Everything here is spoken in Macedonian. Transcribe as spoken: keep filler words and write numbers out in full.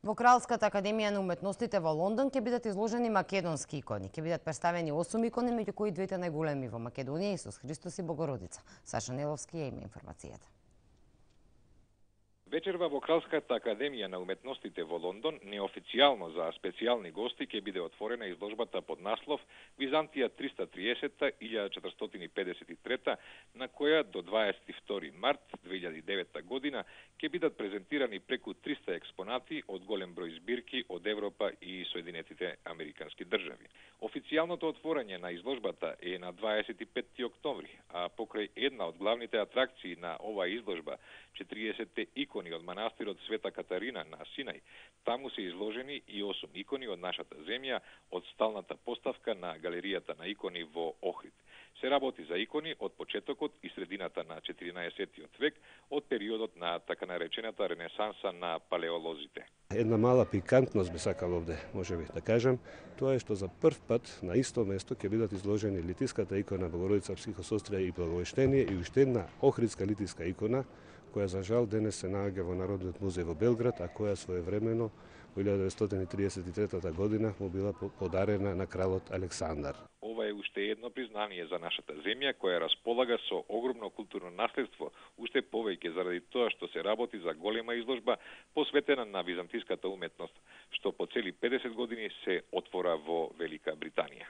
Во Кралската академија на уметностите во Лондон ќе бидат изложени македонски икони. Ќе бидат представени осум икони, меѓу кои двете најголеми во Македонија, Исус Христос и Богородица. Саша Неловски ја има информацијата. Вечерва во Кралската академија на уметностите во Лондон, неофицијално за специјални гости, ќе биде отворена изложбата под наслов Византија триста триесетта - илјада четиристотини и педесет и трета, на која до дваесет и втори март две илјади и девета година ќе бидат презентирани преку триста експонати од голем број збирки од Европа и Соединетите Американски држави. Официјалното отворање на изложбата е на дваесет и петти октомври, а покрај една од главните атракции на оваа изложба, четириесетте икони од манастирот Света Катарина на Синај, таму се изложени и осум икони од нашата земја од сталната поставка на галеријата на икони во Охрид. Се работи за икони од почетокот и средината на четиринаесеттиот век, од периодот на така наречената ренесанса на палеолозите. Една мала пикантност би сакал овде, можеби да кажам, тоа е што за прв пат на исто место ќе бидат изложени литиската икона Богородица Психосострија и Благовештение и уште една охридска литиска икона, која за жал денес се наоѓа во Народниот музеј во Белград, а која своевремено во илјада деветстотини и триесет и трета година му била подарена на кралот Александар. Ова е уште едно признание за нашата земја, која располага со огромно културно наследство, уште повеќе заради тоа што се работи за голема изложба посветена на византиската уметност, што по цели педесет години се отвора во Велика Британија.